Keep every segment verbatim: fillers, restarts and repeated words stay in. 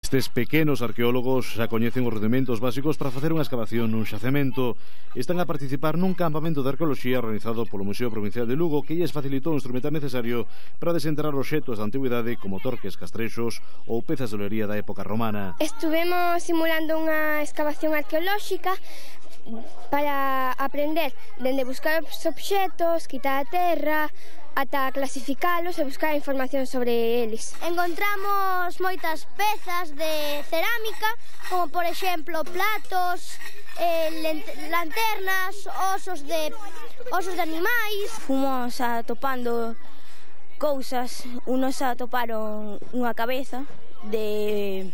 Estes pequenos arqueólogos xa coñecen os rudimentos básicos para facer unha excavación nun xacemento. Están a participar nun campamento de arqueoloxía organizado polo Museo Provincial de Lugo, que lles facilitou o instrumental necesario para desenterrar obxetos da antigüidade como torques, castrexos ou pezas de olería da época romana. Estuvemos simulando unha excavación arqueolóxica para aprender dende buscar os obxetos, quitar a terra, ata clasificalos e buscar información sobre eles. Encontramos moitas pezas de cerámica, como por exemplo platos, eh, lanternas, osos de osos de animais. Fomos atopando cousas, unos atoparon unha cabeza de,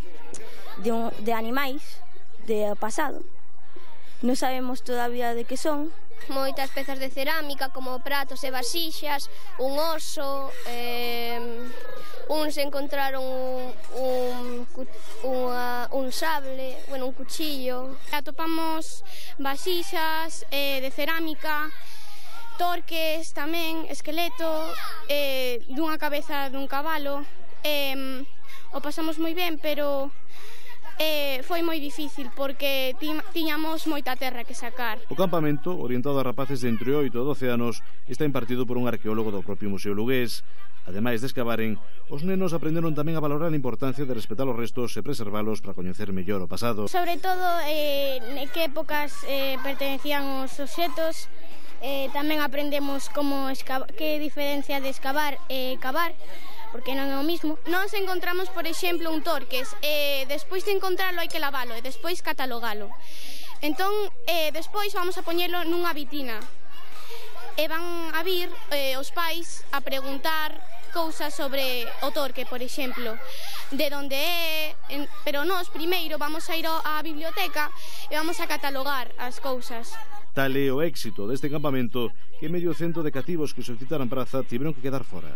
de, un, de animais de pasado. Non sabemos todavía de que son. Moitas pezas de cerámica como pratos e vasixas, un oso, eh, uns encontraron un, un, unha, un sable, bueno, un cuchillo. Atopamos vasixas eh, de cerámica, torques tamén, esqueleto, eh, dunha cabeza dun cabalo. Eh, o pasamos moi ben, pero Eh, foi moi difícil porque tiñamos moita terra que sacar. O campamento, orientado a rapaces de entre oito e doce anos, está impartido por un arqueólogo do propio Museo Lugués. Ademais de escavaren, os nenos aprenderon tamén a valorar a importancia de respetar os restos e preservalos para coñecer mellor o pasado. Sobre todo, eh, en que épocas eh, pertenecían os obxetos. Eh, tamén aprendemos como escava, que diferencia de escavar e cavar, porque non é o mismo. Nos encontramos, por exemplo, un torques, e despois de encontralo hai que lavalo e despois catalogalo. Entón, eh, despois vamos a poñelo nunha vitina e van a vir eh, os pais a preguntar cousas sobre o torque, por exemplo, de onde é, en, pero nós primeiro vamos a ir á biblioteca e vamos a catalogar as cousas. Tal é o éxito deste campamento que medio cento de cativos que solicitaran praza tiveron que quedar fora.